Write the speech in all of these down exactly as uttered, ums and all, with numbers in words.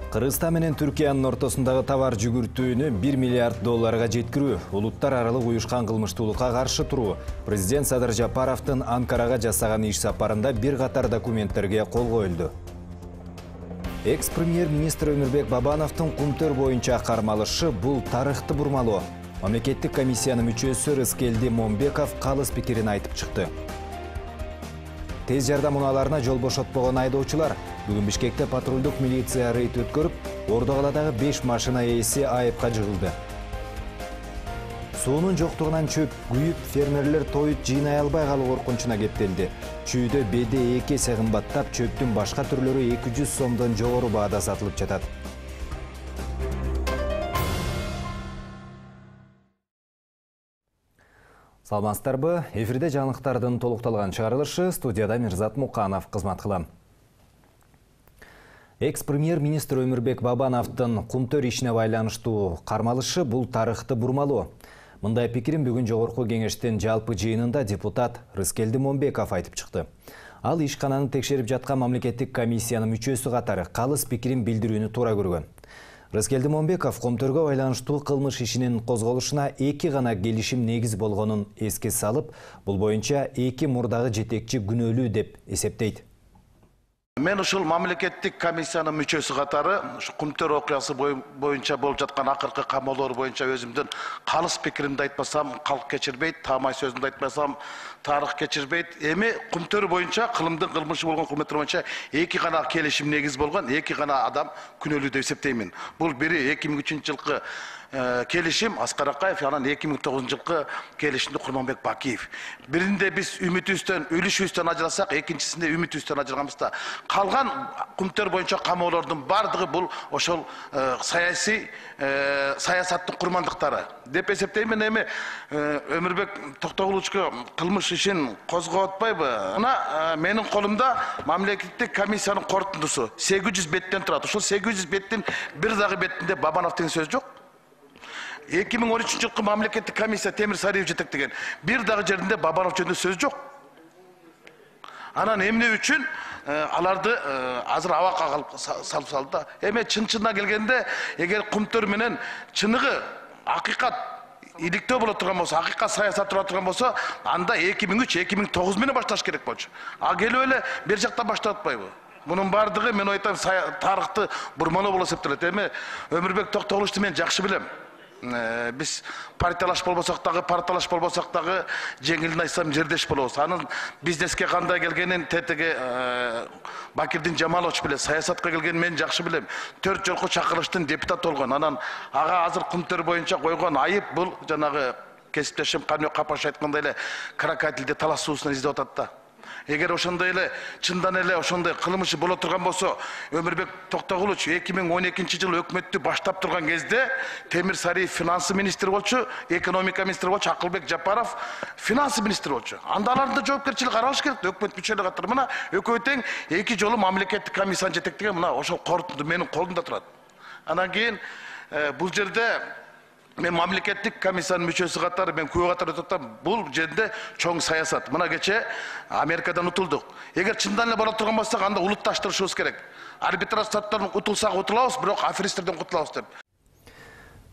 Кыргызстан менен Түркиянын ортосундагы товар жүгүртүүнү бир миллиард долларга жеткирүү, улуттар аралык уюшкан кылмыштуулукка каршы туруу, президент Садыр Жапаровдун Анкарага жасаган иш сапарында бир катар документтерге кол коюлду. Экс-премьер-министр Өмүрбек Бабановдун Кумтөр боюнча кармалышы бул тарыхты бурмалоо. Мамлекеттик комиссиянын мүчөсү Рыскелди Момбеков калыс пикирин айтып чыкты. Тез жардам унааларына жол бошотпогон айдоочулар бүгүн Бишкекте патрулдук милиция рейд өткөрүп, Ордогаладагы беш машина ээси айыпка жыгылды. Суунун жоктугунан чөп күйүп, фермерлер тоют жыйнай албай калуу коркунучуна кептелди. Чүйдө беде эки эсе кымбаттап, чөптүн башка түрлөрү эки жүз сомдон жогору баада сатылып жатат. Саламатсыздарбы? Эфирде жаңылыктардын толукталган чыгарылышы, студияда Мирзат Муканов кызмат кылам. Экс-премьер-министр Өмүрбек Бабановдун Кумтөр ишине байланыштуу кармалышы бул тарыхты бурмалоо. Мындай пикирин бүгүн жогорку кеңештин жалпы жыйынында депутат Рыскелди Момбеков айтып чыкты. Ал ишкананы текшерип жаткан мамлекеттик комиссиянын мүчөсү катары калыс пикирин билдирүүнү туура көргөн. Рыскелди Момбеков Кумтөргө байланыштуу кылмыш ишинин козголушуна эки гана келишим негиз болгонун эске салып, бул боюнча эки мурдагы жетекчи күнөөлүү деп эсептейт. Мен ушул мамлекеттик комиссиянын мүчөсү катары Кумтөр окуясы боюнча болуп жаткан акыркы камоолор боюнча өзүмдүн калыс пикиримди айтпасам, калк кечирбейт, таамай сөзүмдү айтпасам, тарых кечирбейт. Эми Кумтөр боюнча кылымдын кылмышы болгон Кумтөр боюнча эки гана келишим негиз болгон, эки гана адам күнөөлүү деп эсептеймин. Бул бири эки миң үчүнчү жылкы келишим Аскар Акаев, анан эки миң тогузунчу жылкы келишимди Курманбек Бакиев. Биринде биз үмүтүбүздөн, үлүшүбүздөн ажырасак, экинчисинде үмүтүбүздөн ажырганбыз да. Калган Кумтөр боюнча камоолордун бардыгы бул ошол саясий саясаттын курмандыктары деп эсептеймин. Эми Өмүрбек Токтогуловичке кылмыш ишин козгоп атпайбы? Мына менин колумда мамлекеттик комиссиянын корутундусу сегиз жүз беттен турат. Ошол сегиз жүз беттин бир дагы бетинде Бабанов деген сөз жок. эки миң он үчүнчү жылкы мамлекеттик комиссия Темир Сариев жетектеген бир дагы жеринде Бабанов жөнүндө сөз жок. Анан эмне үчүн аларды азыр абакка калып салып салды да. Эми чын-чынына келгенде, эгер Кумтөр менен чыныгы акыйкат иликтөө боло турган болсо, акыйкат саясат тура турган болсо, анда эки миң үч эки миң тогуз менен башташ керек болчу. А келип эле бир жактан баштап атпайбы? Мунун бардыгы мен айтам тарыхты бурмалоо болуп эсептелет. Эми Өмүрбек Токтогуловичти мен жакшы билем. Биз партиялаш болбосок дагы, партиялаш болбосок дагы жеңилин айтсам жердеш болобуз. Анын бизнеске кандай келгенин тетиги Бакирдин Жамалович билет, саясатка келгенин мен жакшы билем. Төрт жолку чакырылыштын депутат болгон. Анан ага азыр Кумтөр боюнча койгон айып бул жанагы кесиптешим Канбек Капаш айткандай эле крокодилди талас суусунан издеп атат да. Эгер ошондой эле чындан эле ошондой кылмышы боло турган болсо, Өмүрбек Токтогулович эки миң он экинчи жылы өкмөттү баштап турган кезде Темир Сариев финансы министри болчу, экономика министри болчу, Акылбек Жапаров финансы министри болчу. Анда аларды жоопкерчилик каралыш керек, өкмөт мүчөлөрү катары. Мына экөө тең эки жолу мамлекеттик комиссияны жетектеген, мына ошол корутунду менин колумда турат. Анан кийин бул жерде мен мамлекеттик комиссиянын мүчөсү катары мен күбө катары отурсам, бул жерде чоң саясат. Мына кече Америкадан утулдук. Эгер чындан эле боло турган болсок, анда улутташтырышыбыз керек. Арбитраж соттон утулсак утулабыз, бирок аферисттерден кутулабыз деп.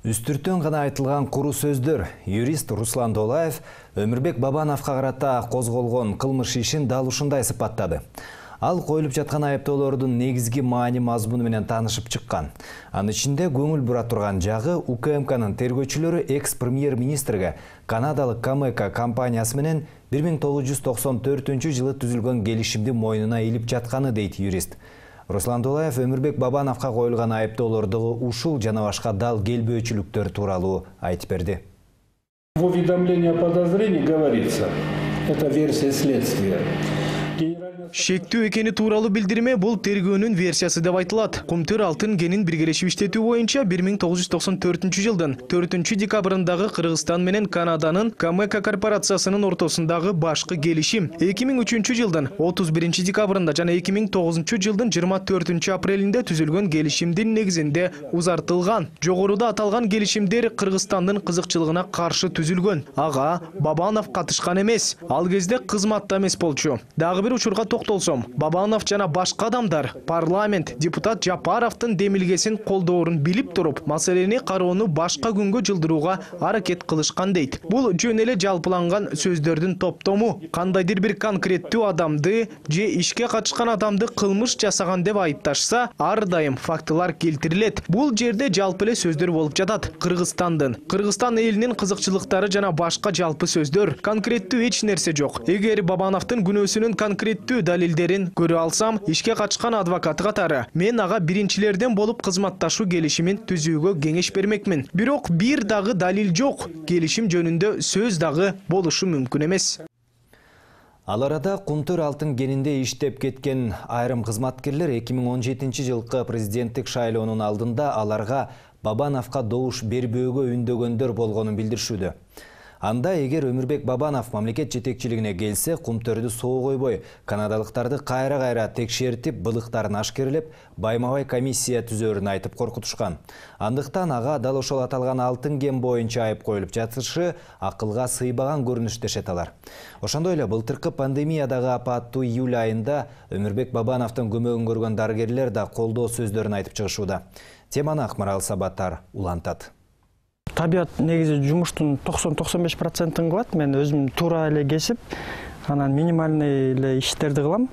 Үстүртөн гана айтылган куру сөздөр. Юрист Руслан Долаев Өмүрбек Бабановго карата козголгон кылмыш ишин дал ушундай сыпаттады. Ал коюлуп жаткан айыптоолордун негизги маани мазмуну менен таанышып чыккан. Анын ичинде көңүл бура турган жагы У К М К'нын тергөөчүлөрү экс-премьер-министрге Канадалык Камека компаниясы менен бир миң тогуз жүз токсон төртүнчү жылы түзүлгөн келишимди мойнуна илип жатканы дейт юрист. Руслан Долаев Өмүрбек Бабановго коюлган айыптоолорду ушул жана башка дал келбөөчүлүктөр тууралуу айтып берди. В уведомлении о подозрении говорится, это версия следствия. Шектүү экени тууралуу билдирме бул тергөөнүн версиясы деп айтылат. Кумтөр алтын кенин биргелешип иштетүү боюнча бир миң тогуз жүз токсон төртүнчү жылдын төртүнчү декабрындагы Кыргызстан менен Канаданын Камека корпорациясынын ортосундагы башкы келишим эки миң үчүнчү жылдын отуз биринчи декабрында жана эки миң тогузунчу жылдын жыйырма төртүнчү апрелинде түзүлгөн келишимдин негизинде узартылган. Жогоруда аталган келишимдер Кыргызстандын кызыкчылыгына каршы түзүлгөн. Ага Бабанов катышкан эмес. Ал кезде кызматта эмес болчу. Дагы бир учурга маселеге токтолсом, Бабанов жана башка адамдар парламент депутат Жапаровдун демилгесин колдоорун билип туруп, маселени кароону башка күнгө жылдырууга аракет кылышкан дейт. Бул жөн эле жалпыланган сөздөрдүн топтому. Кандайдыр бир конкреттүү адамды же ишке катышкан адамды кылмыш жасаган деп айыпташса, ар дайым фактылар келтирилет. Бул жерде жалпы эле сөздөр болуп жатат. Кыргызстандын, Кыргызстан элинин кызыкчылыктары жана башка жалпы сөздөр. Конкреттүү эч нерсе жок. Эгер Бабановдун күнөөсүнүн конкреттүү далилдерин көрө алсам, ишке катышкан адвокат катары мен ага биринчилерден болуп кызматташуу келишимин түзүүгө кеңеш бермекмин. Бирок бир дагы далил жок. Келишим жөнүндө сөз дагы болушу мүмкүн эмес. Ал арада Кумтөр алтын кенинде иштеп кеткен айрым кызматкерлер эки миң он жетинчи жылкы президенттик шайлоонун алдында аларга Бабановго добуш бербөөгө үндөгөндөр болгонун билдиришүүдө. Анда эгер Өмүрбек Бабанов мамлекет жетекчилигине келсе, Кумтөрдү соо койбой, канадалыктарды кайра-кайра текшертип, былыктарын ашкерлеп, байма-бай комиссия түзөрүн айтып коркутушкан. Андыктан ага дал ошол аталган алтын кен боюнча айып коюлуп жатышы акылга сыйбаган көрүнүш дешет алар. Ошондой эле былтыркы пандемиядагы апаттуу июль айында Өмүрбек Бабановдун көмөгүн көргөн дарыгерлер да колдоо сөздөрүн айтып чыгышууда. Теманы Акмарал Сабаттар улантат. Табият негизи жумуштун токсон токсон беш процентин кылат. Мен өзүм туура эле кесип, анан минимальный эле иштерди кылам.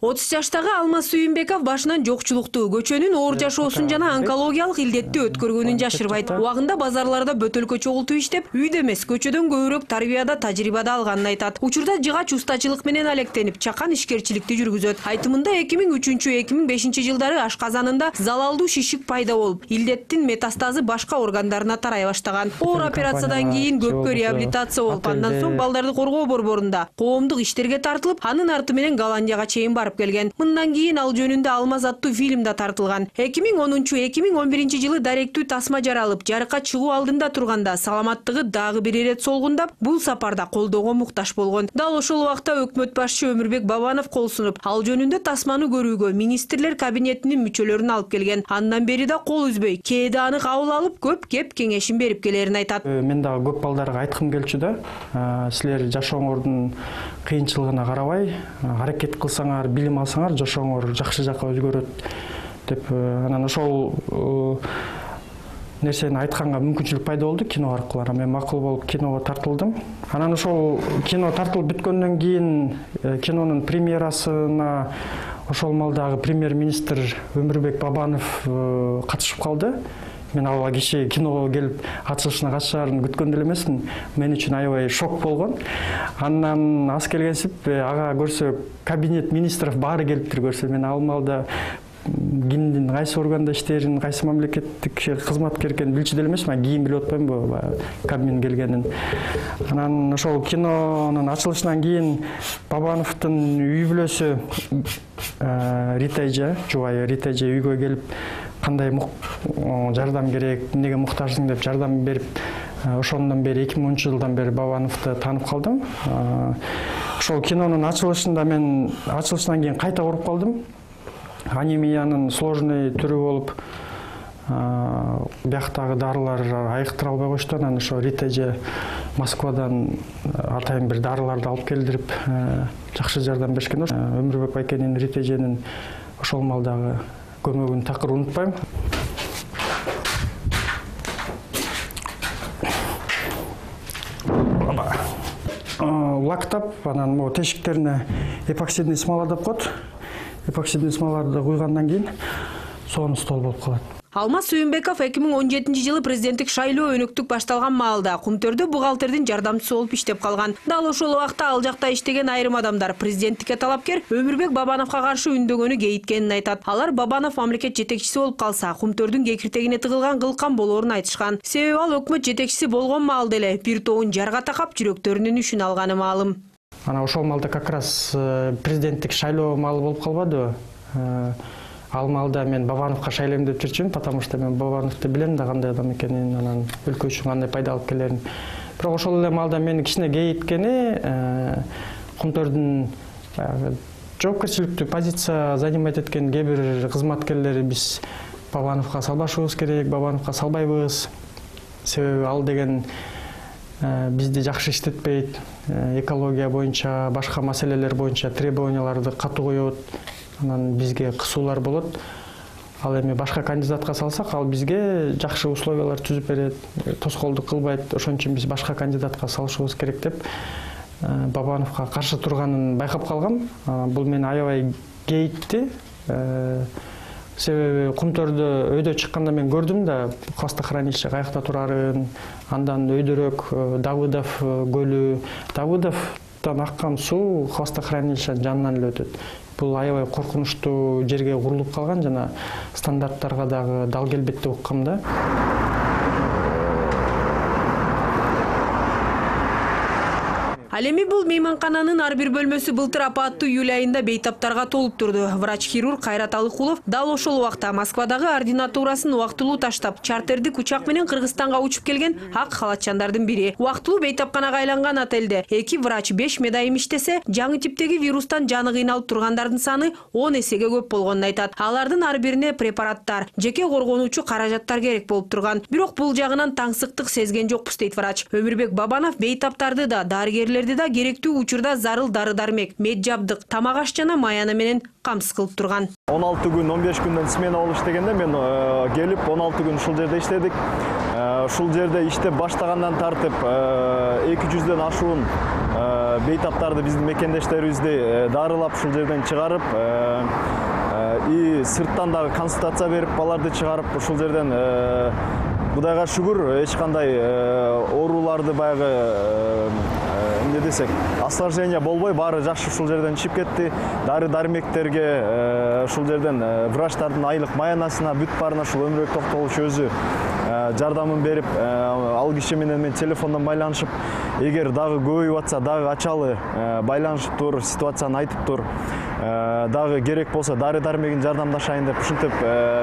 отуз жаштагы Алмаз Сүйүнбеков башынан жокчулукту, көчөнүн оор жашоосун жана онкологиялык илдетти өткөргөнүн жашырбайт. Убагында базарларда бөтөлкө чогултуп иштеп, үйдө эмес, көчөдөн көбүрөөк тарбияда, тажрыйбада алганын айтат. Учурда жыгач устачылык менен алектенип, чакан ишкерчиликти жүргүзөт. Айтымында эки миң үчүнчү эки миң бешинчи жылдары ашказанында залалдуу шишик пайда болуп, илдеттин метастазы башка органдарына тарай баштаган. Оор операциядан кийин көпкө реабилитация болуп, андан соң балдарды коргоо борборунда коомдук иштерге тартылып, анын арты менен Голландияга чейин барып келген. Мындан кийин ал жөнүндө Алмаз аттуу фильм да тартылган. эки миң онунчу эки миң он биринчи жылы даректүү тасма жаралып, жарыкка чыгуу алдында турганда саламаттыгы дагы бир ирет солгундап, бул сапарда колдоого муктаж болгон. Дал ошол убакта өкмөт башчы Өмүрбек Бабанов кол сунуп, ал жөнүндө тасманы көрүүгө министрлер кабинетинин мүчөлөрүн алып келген. Андан бери да кол үзбөй, кээде аны кабыл алып, көп кеп кеңешин берип келерин айтат. Мен дагы көп балдарга айткым келчү да. Силер жашооңордун кыйынчылыгына карабай, аракет кылсаңар, билим алсаңар, жашооңор жакшы жакка өзгөрөт деп, анан ошол нерсени айтканга мүмкүнчүлүк пайда болду кино аркылуу. Мен макул болуп киного тартылдым. Анан ошол кино тартылып бүткөндөн кийин кинонун премьерасына ошол малдагы премьер-министр Өмүрбек Бабанов катышып калды. Мен ал киши киного келип ачылышына катышаарын күткөн деле эмесмин. Мен үчүн аябай шок болгон. Андан аз келгенсип ага көрсө кабинет министров баары келиптир көрсө, мен ал малда кимдин кайсы органда иштерин, кайсы мамлекеттик кызматкер экенин билчү деле эмесмин. Кийин билип атпаймынбы кабинет келгенин. Анан ошол кинонун ачылышынан кийин Бабановдун үй бүлөсү Рита эже, жубайы Рита эже үйгө келип, кандай жардам керек, эмнеге муктажсың деп жардам берип, ошондон бери эки миң онунчу жылдан бери Бабановду таанып калдым. Ошол кинонун ачылышында мен ачылышынан кийин кайта ооруп калдым. Анемиянын сложный түрү болуп, бияктагы дарылар айыктыра албай коюшту. Анан ошо Рита эже Москвадан атайын бир дарыларды алып келдирип, жакшы жардам беришкен. Өмүрбек байкенин, Рита эженин ошол малдагы көмөгүн такыр унутпайм. Лактап, анан могу тешиктерине эпоксидный смола деп коет. Эпоксидный смоларды куйгандан кийин сонун стол болуп калат. Алмаз Сүйүнбеков эки миң он жетинчи жылы президенттик шайлоо өнөктүк башталган маалда Кумтөрдө бухгалтердин жардамчысы болуп иштеп калган. Дал ошол убакта ал жакта иштеген айрым адамдар президенттикке талапкер Өмүрбек Бабановго каршы үндөгөнү кейиткенин айтат. Алар Бабанов мамлекет жетекчиси болуп калса, Кумтөрдүн кекиртегине тыгылган кылкан болоорун айтышкан. Себеби ал өкмөт жетекчиси болгон маалда эле бир тобун жарга такап жүрөктөрүнүн үшүн алганы маалым. Ана ошол маалда как раз президенттик шайлоо маалы болуп калбадыбы? Ал маалда мен Бабановго шайлайм деп жүрчүмүн, потому что мен Бабановду билем да кандай адам экенин, анан өлкө үчүн кандай пайда алып келерин. Бирок ошол эле маалда мени кичине кейиткени Кумтөрдүн жоопкерчиликтүү позиция занимать эткен кээ бир кызматкерлери биз Бабановго салбашыбыз керек, Бабановго салбайбыз. Себеби ал деген бизди жакшы иштетпейт, экология боюнча, башка маселелер боюнча требованияларды катуу коет, анан бизге кысуулар болот. Ал эми башка кандидатка салсак, ал бизге жакшы условиялар түзүп берет, тоскоолдук кылбайт. Ошон үчүн биз башка кандидатка салышыбыз керек деп Бабановго каршы турганын байкап калгам. Бул мени аябай кейитти. Себеби Кумтөрдө өйдө чыкканда мен көрдүм да хвостохранилище каякта турарын, андан өйдөрөөк Давыдов көлү, Давыдовдон аккан суу хвостохранилищенин жанынан эле өтөт. Бул аябай коркунучтуу жерге курулуп калган жана стандарттарга дагы дал келбейт деп уккам да. Ал эми бул мейманкананын ар бир бөлмөсү былтыр апаттуу июль айында бейтаптарга толуп турду. Врач-хирург Кайрат Алыкулов дал ошол убакта Москвадагы ординатурасын убактылуу таштап, чартердик учак менен Кыргызстанга учуп келген ак халатчандардын бири. Убактылуу бейтапканага айланган отелде эки врач беш медайым иштесе, жаңы типтеги вирустан жаны кыйналып тургандардын саны он эсеге көп болгонун айтат. Алардын ар бирине препараттар, жеке коргонуучу каражаттар керек болуп турган. Бирок бул жагынан таңсыктык сезген жокпуз дейт врач. Өмүрбек Бабанов бейтаптарды да, дарыгерлерди да керектүү учурда зарыл дары-дармек, мед жабдык, тамак аш жана маяны менен камсыз кылып турган. он алты күн, он беш күндөн смена болуп иштегенде мен келип он алты күн ушул жерде иштедик. Ушул жерде иштеп баштагандан тартып эки жүздөн ашуун бейтаптарды биздин мекендештерибизди дарылап ушул жерден чыгарып, и сырттан дагы консультация берип аларды чыгарып ушул жерден Кудайга шүгүр эч кандай ооруларды баягы эмне десек, осложнение болбой, баары жакшы ушул жерден чыгып кетти. Дары-дармектерге ушул жерден врачтардын айлык маянасына, бүт баарына ушул Өмүрбек Токтогулович өзү жардамын берип, ал киши менен мен телефондон байланышып, эгер дагы көбөйүп атса, дагы ачалы байланышып тур, ситуацияны айтып тур. Дагы керек болсо дары-дармегин жардамдашайын деп ушинтип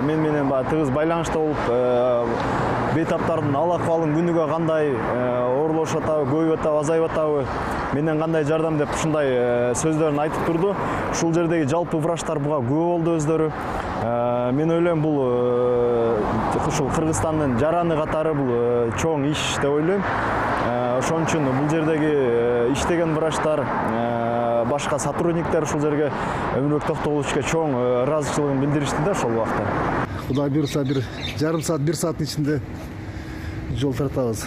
мен менен тыгыз байланышта болуп, бейтаптардын ал акыбалын күнүгө кандай оорлошуп атабы, көбөйүп атабы, азайып атабы, менден кандай жардам деп ушундай сөздөрүн айтып турду. Ушул жердеги жалпы врачтар буга күбө болду өздөрү. Мен ойлойм, бул ушул Кыргызстандын жараны катары бул чоң иш деп ойлойм. Ошон үчүн бул жердеги иштеген врачтар, башка сотрудниктер ушул жерге Өмүрбек Токтогуловичке чоң ыраазычылыгын билдиришти да ошол убакта. Кудай буйруса бир жарым саат, бир сааттын ичинде жол тартабыз.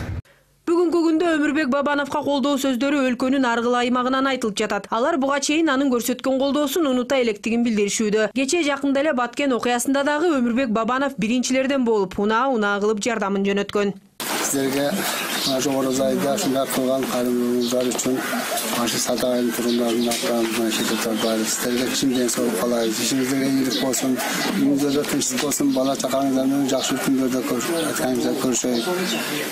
Бүгүнкү күндө Өмүрбек Бабановго колдоо сөздөрү өлкөнүн ар кыл аймагынан айтылып жатат. Алар буга чейин анын көрсөткөн колдоосун унута электигин билдиришүүдө. Кечээ жакында эле Баткен окуясында дагы Өмүрбек Бабанов биринчилерден болуп, унаа-унаа кылып жардамын жөнөткөн. Сіздерге жогору зайда ушундай кылган кайрымдуулугуңуздар үчүн ашы сатайын турумдарын аттан шететер бар. Сіздерге чын ден соолук каалайбыз. Ишиңизде ийгилик болсун, үйүңүздө тынчтык болсун, бала чакаңыздар менен жакшы күндөрдө көрүшөйүк.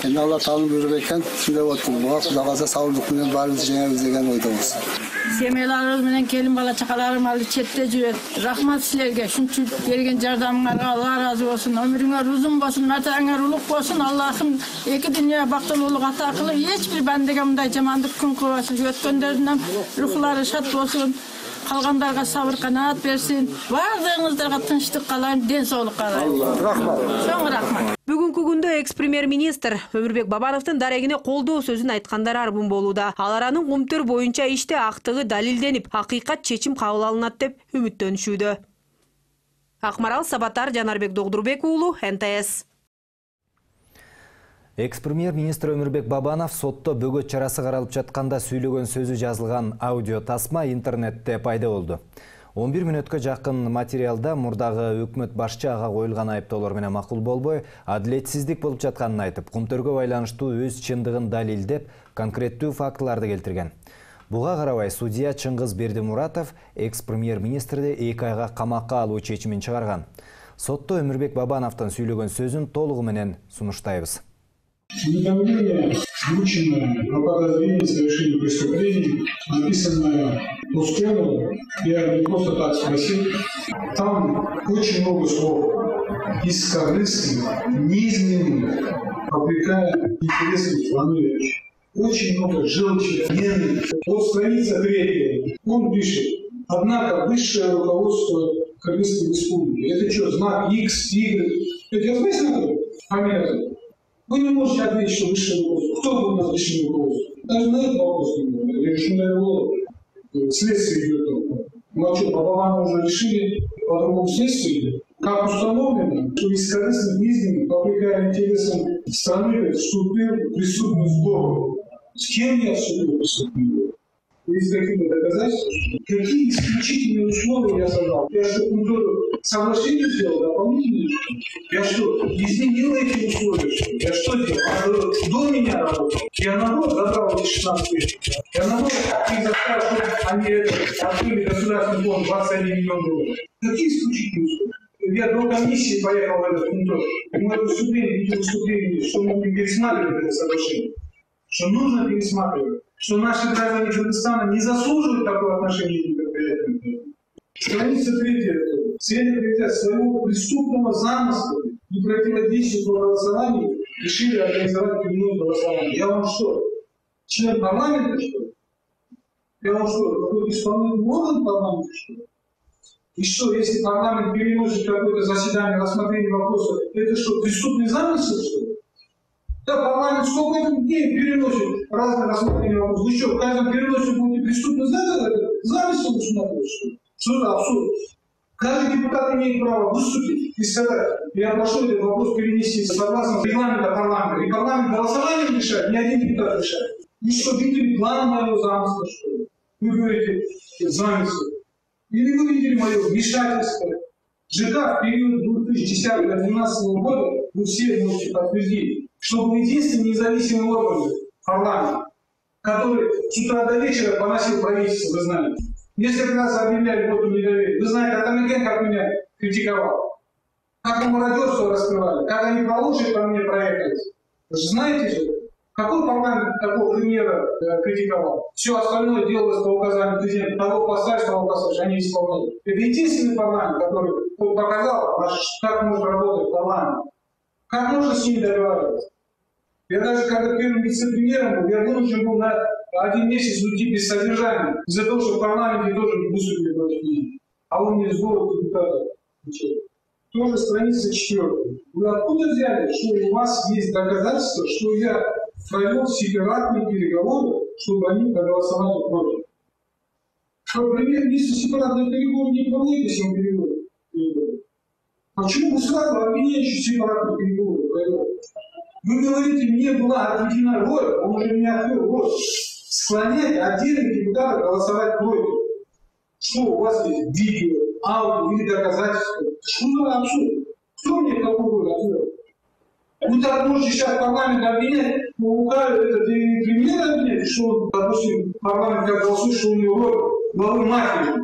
Эми Алла таалам буйруп экен, ушундай болуп, буга Кудай кааласа саулык менен баарыбыз жеңебиз деген ойдобуз. Семьяларыбыз менен келин бала чакаларым алы четте жүрөт. Рахмат силерге, ушунча берген жардамыңарга Алла ыраазы болсун. Өмүрүңөр узун болсун, матаңар улук болсун. Аллахым эки дүйнө бактылуулук ата кылып, эч бир бандага мындай жамандык күн кылбасын. Өткөндөрдүн рухлары шат болсун. Калгандарга сабыр канаат берсин. Бардыгыңыздарга тынчтык каалайм, ден соолук каалайм. Рахмат. Чоң рахмат. Бүгүнкү күндө экс-премьер-министр Өмүрбек Бабановдун дарегине колдоо сөзүн айткандар арбын болууда. Алар анын Кумтөр боюнча иште актыгы далилденип, акыйкат чечим кабыл алынат деп үмүттөнүшүүдө. Акмарал Сабатар, Жанарбек Догдурбек уулу, эн тэ эс. Экс-премьер-министр Өмүрбек Бабанов сотто бөгөт чарасы каралып жатканда сүйлөгөн сөзү жазылган аудио тасма интернетте пайда болду. он бир мүнөткө жакын материалда мурдагы өкмөт башчы ага коюлган айыптоолор менен макул болбой, адилетсиздик болуп жатканын айтып, Кумтөргө байланыштуу өз чындыгын далилдеп, конкреттүү фактыларды келтирген. Буга карабай судья Чыңгыз Бердимуратов экс-премьер-министрди эки айга камакка алуу чечимин чыгарган. Сотто Өмүрбек Бабановдун сүйлөгөн сөзүн толугу менен сунуштайбыз. Уведомление, врученное о подозрении в совершении преступлений, написанное Усконовым, я не просто так спросил, там очень много слов бескорыстных, неизменных, попрекая интересы страны. Очень много желчи, ненависти. Вот страница третья, он пишет: однако высшее руководство Кыргызской республики, это что, знак X, Y? Это известно кто? Фамилия? Вы не можете ответить, что высший руководство. Кто был у нас высший руководство? Даже на этот вопрос не решено. Следствие идет. Ну а что, по Бабану уже решили по другому следствию? Как установлено, что из корыстных изменений, попрекая интересам страны, вступил в преступную сговору. С кем я вступил в преступную сговору? Есть какие-то доказательства? Какие исключительные условия я создал? Я что, контору соглашение сделал, дополнительные? Я что, изменил эти условия? Что? Я что делал? А до меня работал. Я наоборот забрал эти шестнадцать лет. Я наоборот их заставил, чтобы они открыли государственный фонд двадцать один миллион долларов. Какие исключительные условия? Я до комиссии поехал в этот контор. Мы выступление, эти выступления, что мы будем пересматривать это соглашение. Что нужно пересматривать. Что наши граждане Кыргызстана не заслуживают такое отношение к предприятиям. Страница третья. Цель своего преступного замысла и противодействия голосованию решили организовать прямое голосование. Я вам что, член парламента, что ли? Я вам что, какой-то исполнительный орган парламента, что ли? И что, если парламент переносит какое-то заседание рассмотрения вопроса, это что, преступный замысел, что ли? Да, парламент сколько это дней переносит разные рассмотрения вопросов. Вы что, в каждом переносе будете преступный замысел усматривать, что ли? Что за абсурд? Каждый депутат имеет право выступить и сказать, я прошу этот вопрос перенести согласно регламенту парламента. И парламент голосованием решает, ни один депутат решает. Вы что, видели план моего замысла, что ли? Вы говорите, замысел. Или вы видели мое вмешательство? ЖК в период две тысячи десятого — две тысячи двенадцатого года, вы все можете подтвердить, что был единственный независимый орган парламент, который с утра до вечера поносил правительство, вы знаете. Несколько раз объявляли воту недоверия. Вы знаете, Атамекен как меня критиковал. Как они мародерство раскрывали, как они по лошади по мне проехались. Вы же знаете же, какой парламент такого премьера э, критиковал? Все остальное делалось по указанию президента. Того поставишь, того поставишь, они исполняют. Это единственный парламент, который показал, как может работать парламент. Как можно с ними договариваться. Я даже когда первым вице-премьером был, я вынужден был на один месяц уйти без содержания, из-за того, что в парламенте тоже выступили против меня. А он мне сбору депутатов. Тоже страница четвертая. Вы откуда взяли, что у вас есть доказательства, что я провел сепаратные переговоры, чтобы они проголосовали против? Что премьер-министр сепаратные переговоры не проводит, если он переговоры? Почему вы сразу обвиняете сепаратные переговоры провел? Вы говорите, мне была отведена роль, он уже меня открыл роль, склонять отдельных депутатов голосовать против. Что у вас есть? Видео, аудио или доказательства? Что за абсурд? Кто мне такую роль открыл? Вы так можете сейчас парламент обвинять, ну, это и премьер обвинять, что он, допустим, парламент как голосует, что у него роль главы мафии.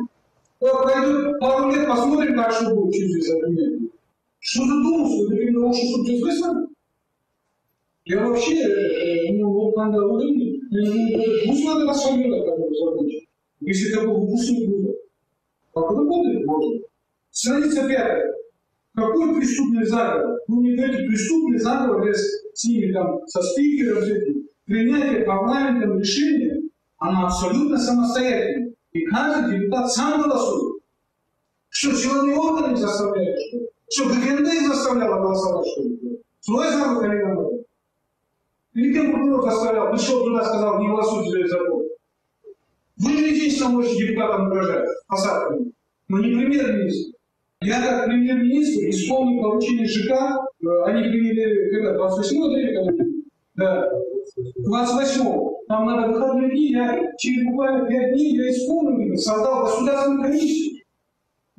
Вот пройдет пару лет, посмотрим, как что будет через обвинять. Что за думал, что это лучше, чтобы здесь выслали? Я вообще, ну, вот надо удобнее, пусть надо расформировать такого закончить. Если такого пусть не будет. Как работает, можно. Страница пятая. Какой преступный заговор? Вы мне говорите, преступный заговор, с ними там, со спикером, принятие парламентом решения, оно абсолютно самостоятельно. И каждый депутат сам голосует. Что, силовые органы заставляют, что ли? Что, ГКНД заставляла голосовать, что ли? Свой заговор, коллега? Или кем прокурор заставлял? Пришел туда, сказал, не голосуйте за этот закон. Вы же единственно можете депутатам угрожать посадками, но не премьер-министр. Я как премьер-министр исполнил поручение ЖК, они приняли, когда, двадцать восьмого апреля? Да, двадцать восьмого. Там надо выходные дни, я через буквально пять дней я исполнил, создал государственную комиссию.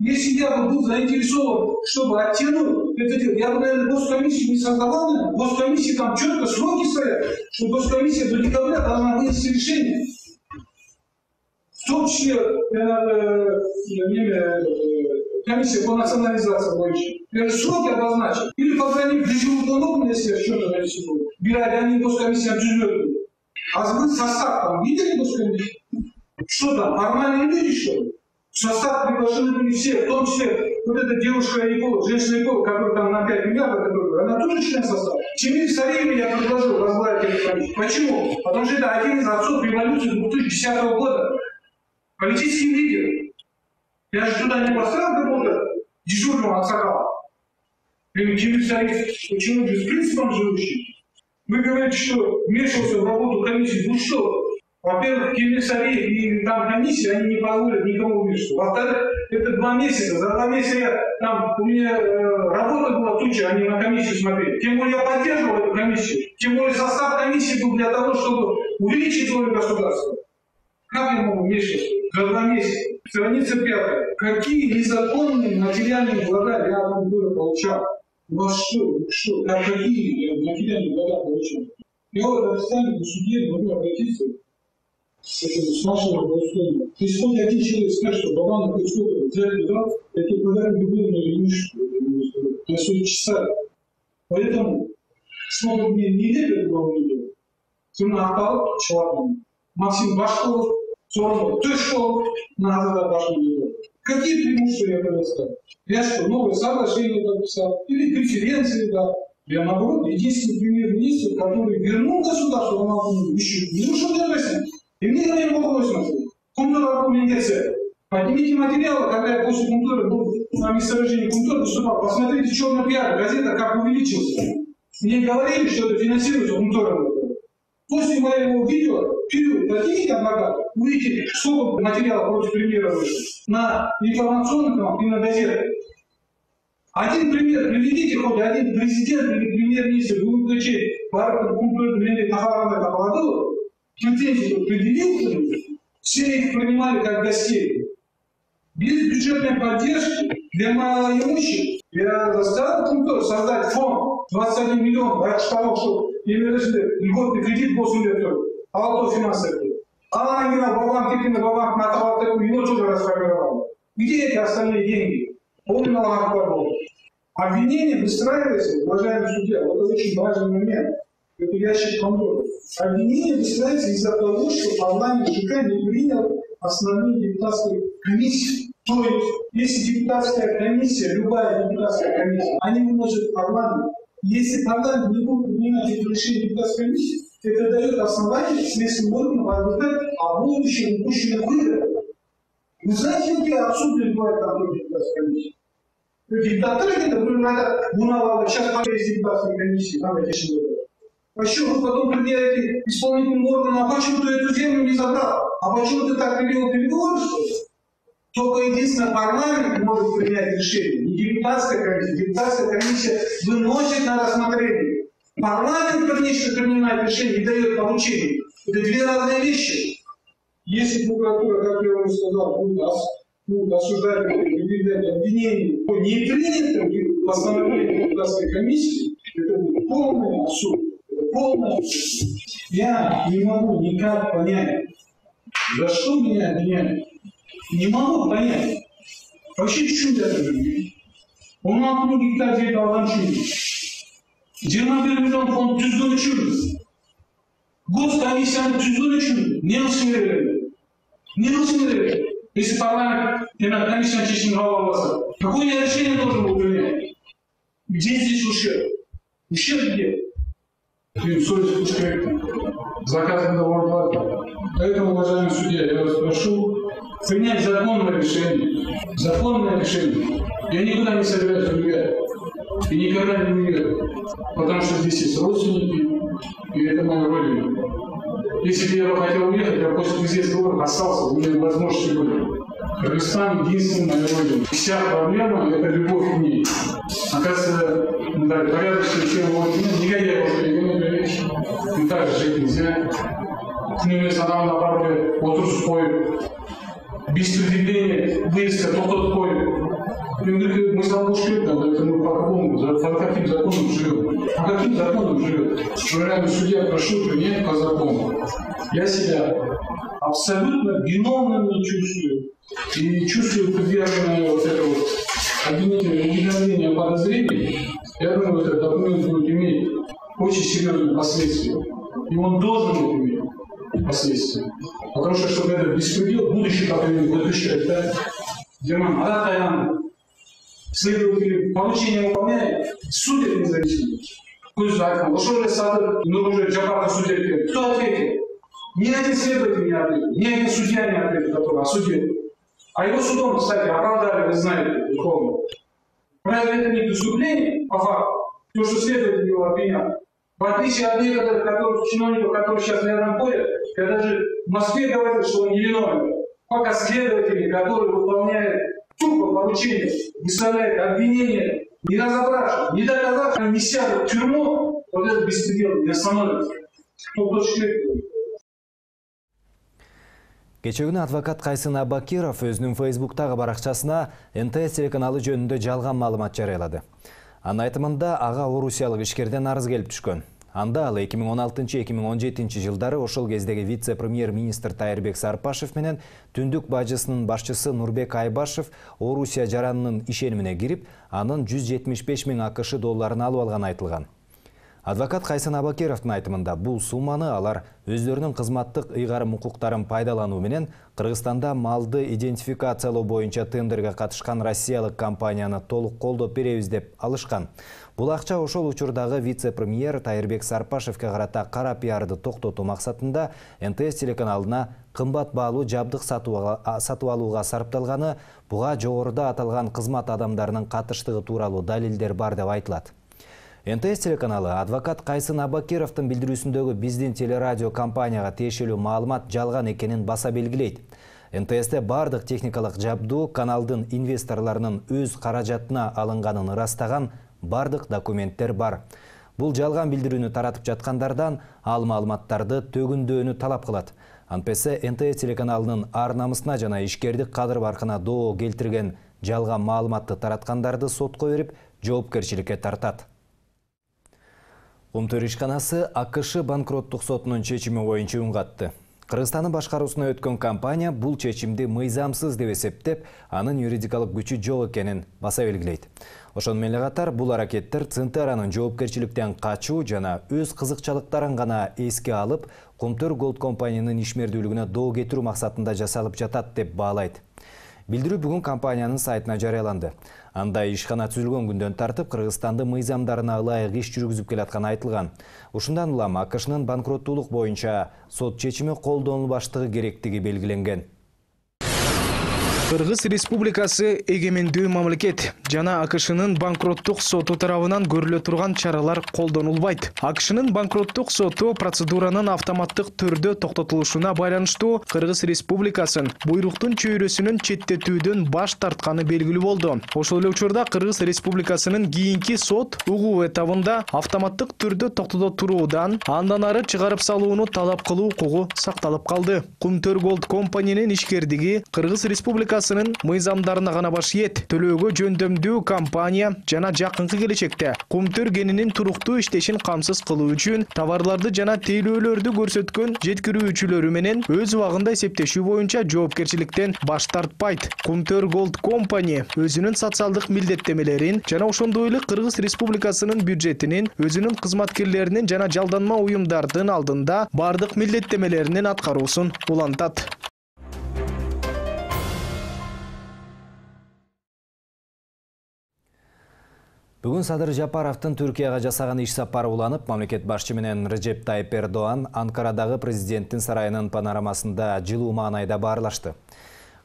Если я бы был заинтересован, чтобы оттянуть это дело, я бы, наверное, госкомиссию не создавал, наверное. Госкомиссии там четко сроки стоят, что госкомиссия до декабря должна вынести решение. В том числе э, э, комиссия по национализации больше. Я же сроки обозначил. Или, по крайней мере, дежурный, если я что-то нарисую. Бирали они госкомиссия обживет. А вы состав там видели госкомиссию? Что там, нормальные люди, что ли? В состав приглашены были все, в том числе вот эта девушка-эколог, женщина-эколог, которая там на пять миллиардов, она тоже член состава. Чемир Сарееву я предложил возглавить эту комиссию. Почему? Потому что это один из отцов революции две тысячи десятого года. Политический лидер. Я же туда не поставил какого-то дежурного аксакала. Чемир Сареев, почему без принципом живущий? Вы говорите, что вмешивался в работу комиссии. Ну что? Во-первых, комиссарии и там комиссии, они не позволят никому вмешиваться. Во-вторых, это два месяца. За два месяца я, там, у меня э, работа была туча, они на комиссию смотрели. Тем более я поддерживал эту комиссию. Тем более состав комиссии был для того, чтобы увеличить роль государства. Как я могу вмешиваться? За два месяца. Страница пятая. Какие незаконные материальные блага я от Кумтора получал? У вас что? Что? Как какие материальные блага получал? Я вот официально в суде могу обратиться с, этим, с вашего голосования. То есть хоть один человек скажет, что Бабанов хоть сколько взять туда, я тебе подарю любую имущество. На свои часа. Поэтому, сколько мне не лет этого видео, Тимур Ахтал, человек, Максим Башков, Сорок, ты что, надо задать вашему видео. Какие преимущества я предоставил? Я что, новое соглашение подписал? Или конференции, да? Я, наоборот, единственный премьер-министр, который вернул государство на Алтын еще не ушел для России. И мне говорили вопрос на свой. Кумтор аргументация. Поднимите материалы, когда я после Кумтора был на месторождении Кумтора выступал. Посмотрите, черный пиар, газета как увеличился. Мне говорили, что это финансируется Кумтором. После моего видео, период, поднимите адвоката, увидите, сколько материалов против премьера вышло на информационных каналах и на газетах. Один пример, приведите хоть один президент или премьер-министр Гулкачей, Барак Кумтор, Тахарана Капаладова, претензию предъявил, все их принимали как гостей. Без бюджетной поддержки для малоимущих я заставил Кумтор создать фонд двадцать один миллион ради того, чтобы имели льготный кредит восемь лет, а финансовый. А она играла Бабан, Кипина, Бабан, Натал, его тоже расформировал. Где эти остальные деньги? Он налогов подал. Обвинение выстраивается, уважаемый судья, вот это очень важный момент. Это ящик Пандоры. Обвинение выстраивается из-за того, что парламент ЖК не принял основные депутатские комиссии. То есть, если депутатская комиссия, любая депутатская комиссия, они выносят в парламент. Если парламент не будет принимать эти решения депутатской комиссии, это дает основание следственным органам возбуждать о будущем упущенных выборах. Вы знаете, где абсурдно бывает контроль депутатской комиссии? Диктаторы это надо Бунава, сейчас повесить депутатской комиссии, надо решить выборы. Почему вы потом предъявите исполнительным органам, а почему ты эту землю не забрал? А почему ты так привел переговоры, что ли? Только единственное парламент может принять решение, не депутатская комиссия. Депутатская комиссия выносит на рассмотрение. Парламент, конечно, принимает решение и дает поручение. Это две разные вещи. Если прокуратура, как я вам сказал, будет, ос, будет осуждать выдвигать обвинения по непринятым постановлениям депутатской комиссии, это будет полный абсурд. Это полный абсурд. Я не могу никак понять, за что меня обвиняют. Не могу понять. Вообще чудо это. Он на одну гектар жер алған чудо. жыйырма бир миллион фонд түзгөн үчүн. Госкомиссияны түзгөн үчүн не кылыш керек? Не кылыш керек? Если парламент на комиссияны чечимин кабыл албаса, какое я решение должен был принять? Где здесь ущерб? Ущерб где? Совесть ущерб. Заказано ордер. Поэтому, уважаемый судья, я вас прошу принять законное решение. Законное решение. Я никуда не собираюсь уезжать. И никогда не уеду. Потому что здесь есть родственники, и это моя родина. Если бы я бы хотел уехать, я после президентского выбора остался, у меня возможности были. Кыргызстан единственная моя родина. Вся проблема – это любовь к ней. Оказывается, да, порядочная тема вот меня, негодяев, и так же жить нельзя. Күнүмес адамдын апарып отурусуп коюп, без предъявления выезда токтотуп коюп. Мемлекет мысал болуш керек, это мы по какому, по каким законам живем? По каким законам живем? Уважаемый судья, прошу принять по закону. Я себя абсолютно виновным не чувствую. И чувствую предъявленное вот это вот обвинение, уведомление о подозрении. Я думаю, этот документ будет иметь очень серьезные последствия. И он должен иметь последствия. Потому что, чтобы этот беспредел, будущий поколение выключать, да, где нам Аратаян, следователи поручение выполняет, судят независимо. Пусть айтқан, ошол сады, ну уже Джапарда судят. Кто ответит? Ни один следователь не ответит, ни один судья не ответит, который осудил. А его судом, кстати, оправдали, вы знаете, условно. Разве это не преступление, по факту? То, что следователь его обвинял. В отличие от некоторых которые, чиновников, которые сейчас рядом ходят, когда же в Москве говорят, что он невиновен, пока следователи, которые выполняют тупо поручения, выставляют обвинения, не разобравшись, не доказав, не сядут в тюрьму, вот этот беспредел не остановится. Кече күнү адвокат Кайсын Абакиров өзүнүн Фейсбуктагы баракчасына эн тэ эс телеканалы жөнүндө жалган маалымат жарыялады. Анын айтымында ага орусиялык ишкерден арыз келип түшкөн. Анда ал эки миң он алтынчы — эки миң он жетинчи жылдары ошол кездеги вице-премьер-министр Тайырбек Сарпашев менен түндүк бажысынын башчысы Нурбек Айбашев Орусия жаранынын ишенимине кирип, анын жүз жетимиш беш миң акш долларын алып алганы айтылган. Адвокат Кайсын Абакировдун айтымында бул сумманы алар өздөрүнүн кызматтык ыйгарым укуктарын пайдалануу менен Кыргызстанда малды идентификациялоо боюнча тендерге катышкан россиялык компанияны толук колдоп беребиз деп алышкан. Бул акча ошол учурдагы вице-премьер Тайырбек Сарпашевке карата кара пиарды токтотуу максатында эн тэ эс телеканалына кымбат баалуу жабдык сатып алууга сарпталганы, буга жогоруда аталган кызмат адамдарынын катыштыгы тууралуу далилдер бар деп айтылат. эн тэ эс телеканалы адвокат Кайсын Абакировдун билдирүүсүндөгү биздин телерадио компанияга тиешелүү маалымат жалган экенин баса белгилейт. эн тэ эсте бардык техникалык жабдуу каналдын инвесторлорунун өз каражатына алынганын ырастаган бардык документтер бар. Бул жалган билдирүүнү таратып жаткандардан ал маалыматтарды төгүндөөнү талап кылат. Антпесе эн тэ эс телеканалынын ар намысына жана ишкердик кадыр баркына доо келтирген жалган маалыматты тараткандарды сотко берип, жоопкерчиликке тартат. Кумтөр ишканасы а ка ш банкроттук сотунун чечими боюнча үн катты. Кыргызстандын башкаруусуна өткөн компания бул чечимди мыйзамсыз деп эсептеп, анын юридикалык күчү жок экенин баса белгилейт. Ошону менен катар бул аракеттер Центеранын жоопкерчиликтен качуу жана өз кызыкчылыктарын гана эске алып, Кумтөр Голд компаниянын ишмердүүлүгүнө доо кетирүү максатында жасалып жатат деп баалайт. Билдирүү бүгүн компаниянын сайтына жарыяланды. Анда ишкана түзүлгөн күндөн тартып Кыргызстанды мыйзамдарына ылайык иш жүргүзүп келатканы айтылган. Ушундан улам а ка шнын банкроттуулук боюнча сот чечими колдонулбаштыгы керектиги белгиленген. Кыргыз Республикасы эгемендүү мамлекет жана а ка шнын банкроттук соту тарабынан көрүлө турган чаралар колдонулбайт. а ка шнын банкроттук соту процедуранын автоматтык түрдө токтотулушуна байланыштуу Кыргыз Республикасын буйруктун чөйрөсүнөн четтетүүдөн баш тартканы белгилүү болду. Ошол эле учурда Кыргыз Республикасынын кийинки сот угуу этабында автоматтык түрдө токтото туруудан андан ары чыгарып салууну талап кылуу укугу сакталып калды. Кумтөр Голд компаниянын ишкердиги Кыргыз Республикасы мыйзамдарына гана баш ийет. Төлөөгө жөндөмдүү компания жана жакынкы келечекте Кумтөр кенинин туруктуу иштешин камсыз кылуу үчүн товарларды жана тейлөөлөрдү көрсөткөн жеткирүүчүлөрү менен өз убагында эсептешүү боюнча жоопкерчиликтен баш тартпайт. Кумтөр Голд компания өзүнүн социалдык милдеттемелерин жана ошондой эле Кыргыз Республикасынын бюджетинин, өзүнүн кызматкерлеринин жана жалданма уюмдардын алдында бардык милдеттемелеринин аткаруусун улантат. Бүгүн Садыр Жапаровдун Түркияга жасаган иш сапары уланып, мамлекет башчы менен Режеп Тайып Эрдоан Анкарадагы президенттин сарайынын панорамасында жылуу маанайда баарлашты.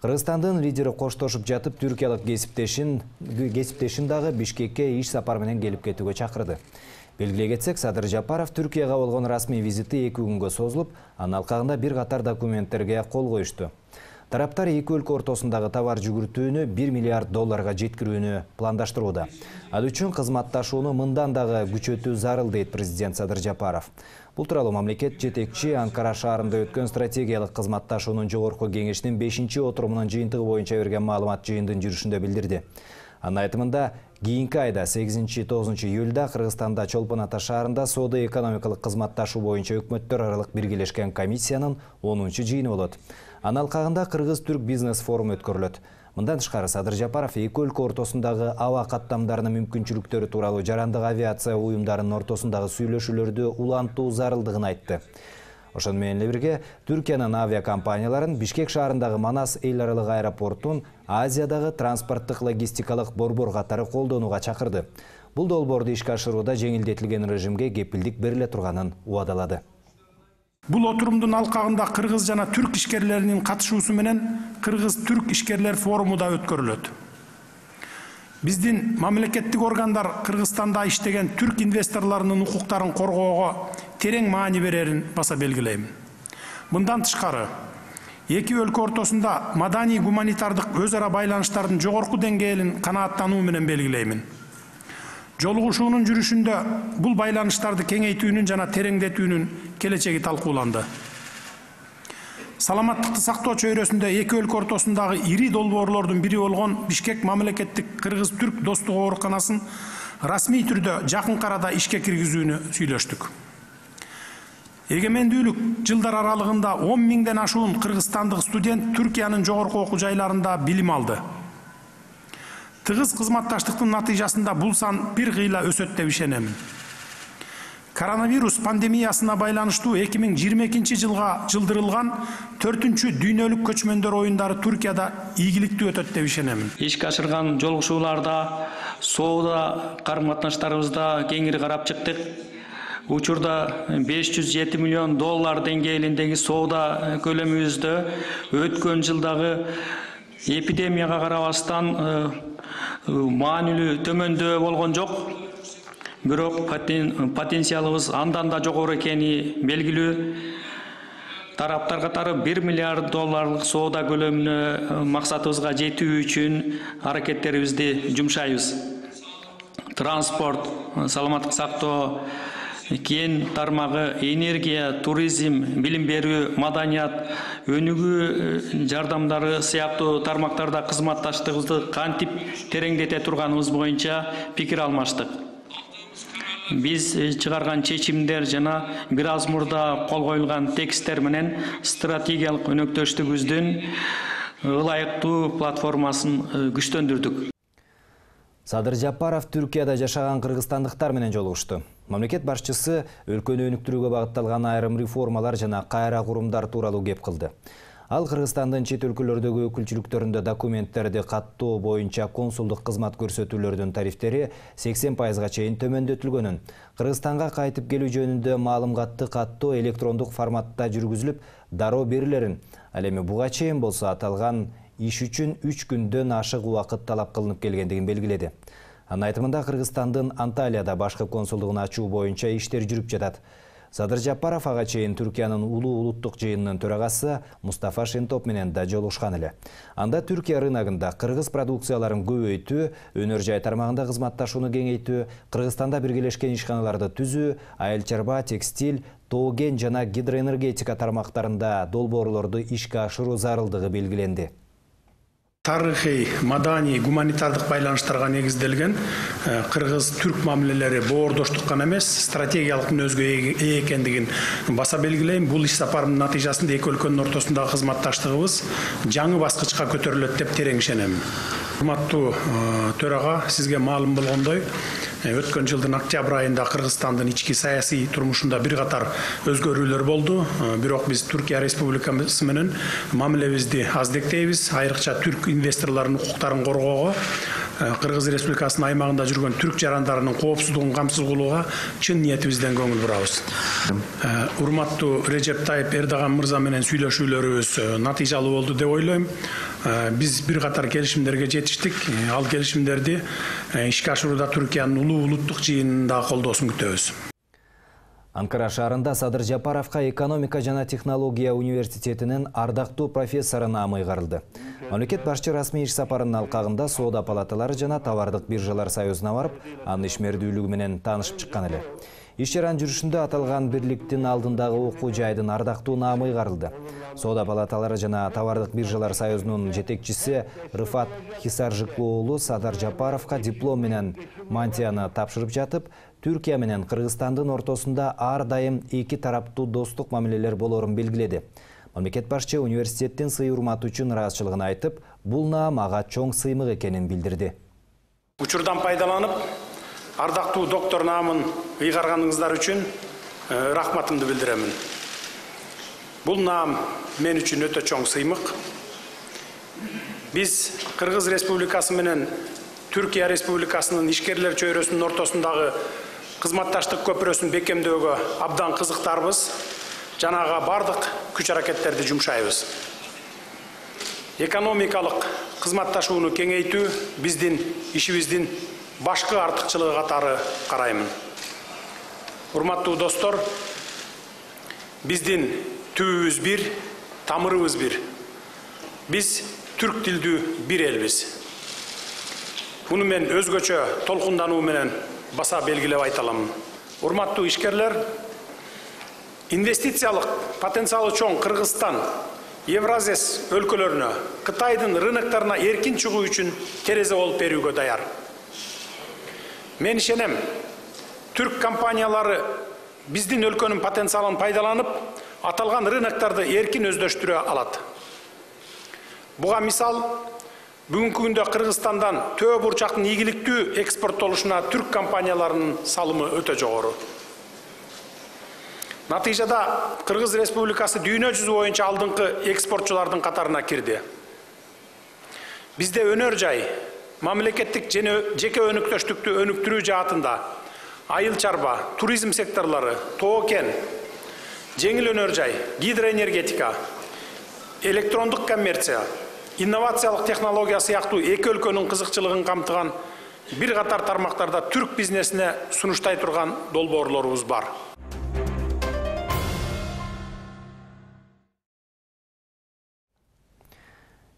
Кыргызстандын лидери коштошуп жатып, түркиялык кесиптешин кесиптешин дагы Бишкекке иш сапар менен келип кетүүгө чакырды. Белгилей кетсек, Садыр Жапаров Түркияга болгон расмий визити эки күнгө созулуп, анын алкагында бир катар документтерге кол коюшту. Тараптар эки өлкө ортосундагы товар жүгүртүүнү бир миллиард долларга жеткирүүнү пландаштырууда. Ал үчүн кызматташууну мындан дагы күчөтүү зарыл дейт президент Садыр Жапаров. Бул тууралуу мамлекет жетекчи Анкара шаарында өткөн стратегиялык кызматташуунун жогорку кеңешинин бешинчи отурумунун жыйынтыгы боюнча берген маалымат жыйындын жүрүшүндө билдирди. Анын айтымында, кийинки айда сегизинчи тогузунчу июлда Кыргызстанда Чолпон Ата шаарында соода-экономикалык кызматташуу боюнча өкмөттөр аралык биргелешкен комиссиянын онунчу жыйыны болот. Анын алкагында Кыргыз-Түрк бизнес форуму өткөрүлөт. Мындан тышкары Садыр Жапаров эки өлкө ортосундагы аба каттамдарынын мүмкүнчүлүктөрү тууралуу жарандык авиация уюмдарынын ортосундагы сүйлөшүүлөрдү улантуу зарылдыгын айтты. Ошону менен эле бирге Түркиянын авиакомпанияларын Бишкек шаарындагы Манас эл аралык аэропортун Азиядагы транспорттук логистикалык борбор катары колдонууга чакырды. Бул долбоорду ишке ашырууда жеңилдетилген режимге кепилдик бериле турганын убадалады. Бул отурумдун алкагында кыргыз жана түрк ишкерлеринин катышуусу менен Кыргыз-Түрк ишкерлер форуму да өткөрүлөт. Биздин мамлекеттик органдар Кыргызстанда иштеген түрк инвесторлорунун укуктарын коргоого терең маани берерин баса белгилейм. Мындан тышкары, эки өлкө ортосунда маданий гуманитардык өз ара байланыштардын жогорку деңгээлин канааттануу менен белгилеймин. Жолугушуунун жүрүшүндө бул байланыштарды кеңейтүүнүн жана тереңдетүүнүн келечеги талкууланды. Саламаттыкты сактоо чөйрөсүндө эки өлкө ортосундагы ири долбоорлордун бири болгон Бишкек мамлекеттик кыргыз-түрк достук ооруканасын расмий түрдө жакын арада ишке киргизүүнү сүйлөштүк. Эгемендүүлүк жылдар аралыгында он миңден ашуун кыргызстандык студент Түркиянын жогорку окуу жайларында билим алды. Тыгыз кызматташтыктын натыйжасында бул сан бир кыйла өсөт деп ишенемин. Коронавирус пандемиясына байланыштуу эки миң жыйырма экинчи жылга жылдырылган төртүнчү дүйнөлүк көчмөндөр оюндары Түркияда ийгиликтүү өтөт деп ишенемин. Ишке ашырган жолугушууларда, соода карым-катнаштарыбызда кеңири карап чыктык. Учурда беш жүз жети миллион доллар деңгээлиндеги соода көлөмүбүздө өткөн жылдагы эпидемияга карабастан маанилүү төмөндөө болгон жок. Бирок потенциалыбыз андан да жогору экени белгилүү. Тараптар катары бир миллиард долларлык соода көлөмүнө максатыбызга жетүү үчүн аракеттерибизди жумшайбыз. Транспорт, саламаттык сактоо, кен тармагы, энергия, туризм, билим берүү, маданият, өнүгүү жардамдары сыяктуу тармактарда кызматташтыгыбызды кантип тереңдете турганыбыз боюнча пикир алмаштык. Биз чыгарган чечимдер жана бир аз мурда кол коюлган текстер менен стратегиялык өнөктөштүгүбүздүн ылайыктуу платформасын күчтөндүрдүк. Садыр Жапаров Түркияда жашаган кыргызстандыктар менен жолугушту. Мамлекет башчысы өлкөнү өнүктүрүүгө багытталган айрым реформалар жана кайра курумдар тууралуу кеп кылды. Ал Кыргызстандын чет өлкөлөрдөгү өкүлчүлүктөрүндө документтерди каттоо боюнча консулдук кызмат көрсөтүүлөрдүн тарифтери сексен пайызга чейин төмөндөтүлгөнүн, Кыргызстанга кайтып келүү жөнүндө маалыматты каттоо электрондук форматта жүргүзүлүп, дароо берилерин, ал эми буга чейин болсо аталган иш үчүн үч күндөн ашык убакыт талап кылынып келгендигин белгиледи. Анын айтымында Кыргызстандын Анталияда башкы консулдугун ачуу боюнча иштер жүрүп жатат. Садыр Жапаров ага чейин Түркиянын улуу улуттук жыйынынын төрагасы Мустафа Шентоп менен да жолугушкан эле. Анда Түркия рыногунда кыргыз продукцияларын көбөйтүү, өнөр жай тармагында кызматташууну кеңейтүү, Кыргызстанда биргелешкен ишканаларды түзүү, айыл чарба, текстиль, тоо кен жана гидроэнергетика тармактарында долбоорлорду ишке ашыруу зарылдыгы белгиленди. Тарыхый, маданий, гуманитардык байланыштарга негизделген кыргыз-түрк мамилелери боордоштук гана эмес, стратегиялык мүнөзгө ээ экендигин баса белгилейм. Бул иш сапардын натыйжасында эки өлкөнүн ортосундагы кызматташтыгыбыз жаңы баскычка көтөрүлөт деп терең ишенем. Урматтуу төрага, сизге маалым болгондой, өткөн жылдын октябрь айында Кыргызстандын ички саясий турмушунда бир катар өзгөрүүлөр болду. Бирок биз Түркия Республикасы менен мамилебизди аздектейбиз. Айрыкча түрк инвесторлордун укуктарын коргоого, Кыргыз Республикасынын аймагында жүргөн түрк жарандарынын коопсуздугун камсыз кылууга чын ниетибизден көңүл бурабыз. Урматтуу Режеп Тайып Эрдоган мырза менен сүйлөшүүлөрүбүз натыйжалуу болду деп ойлойм. Биз бир катар келишимдерге жетиштик. Ал келишимдерди ишке ашырууда Түркиянын улуу улуттук жыйынында колдоосун күтөбүз. Анкара шаарында Садыр Жапаровка экономика жана технология университетинин ардактуу профессору наамы ыйгарылды. Мамлекет башчы расмий иш сапарынын алкагында соода палаталары жана товардык биржалар союзуна барып, анын ишмердүүлүгү менен таанышып чыккан эле. Иш жаран жүрүшүндө аталган бирликтин алдындагы окуу жайдын ардактуу наамы ыйгарылды. Соода палаталары жана товардык биржалар союзунун жетекчиси Рыфат Хисаржыклы уулу Садыр Жапаровка диплом менен мантияны тапшырып жатып, Түркия менен Кыргызстандын ортосунда ар дайым эки тараптуу достук мамилелер болорун белгиледи. Мамлекет башчы университеттин сый-урматы үчүн ыраазычылыгын айтып, бул наам ага чоң сыймык экенин билдирди. Учурдан пайдаланып, ардактуу доктор наамын ыйгарганыңыздар үчүн рахматымды билдиремин. Бул наам мен үчүн өтө чоң сыймык. Биз Кыргыз Республикасы менен Түркия Республикасынын ишкерлер чөйрөсүнүн ортосундагы кызматташтык көпүрөсүн бекемдөөгө абдан кызыктарбыз. Жанага бардык күч аракеттерди жумшайбыз. экономикалык кызматташууну кеңейтүү биздин ишибиздин башкы артыкчылыгы катары караймын. Урматтуу достор, биздин түбүбүз бир, тамырыбыз бир. Биз түрк тилдүү бир элбиз. Буну мен өзгөчө толкундануу менен баса белгилеп айта аламын. Урматтуу ишкерлер, инвестициялык потенциалы чоң Кыргызстан, Евразес өлкөлөрүнө, Кытайдын рыноктарына эркин чыгуу үчүн терезе болуп берүүгө даяр. Мен ишенем, түрк компаниялары биздин өлкөнүн потенциалын пайдаланып, аталган рыноктарды эркин өздөштүрө алат. Буга мисал, бүгүнкү күндө Кыргызстандан төө бурчактын ийгиликтүү экспорттолушуна түрк компанияларынын салымы өтө жогору. Натыйжада Кыргыз Республикасы дүйнө жүзү боюнча алдыңкы экспортчулардын катарына кирди. Бизде өнөр жай, мамлекеттик жеке өнүктөштүктү өнүктүрүү жаатында айыл чарба, туризм секторлору, тоо кен, жеңил өнөр жай, гидроэнергетика, электрондук коммерция, инновациялык технология сыяктуу эки өлкөнүн кызыкчылыгын камтыган бир катар тармактарда түрк бизнесине сунуштай турган долбоорлорубуз бар.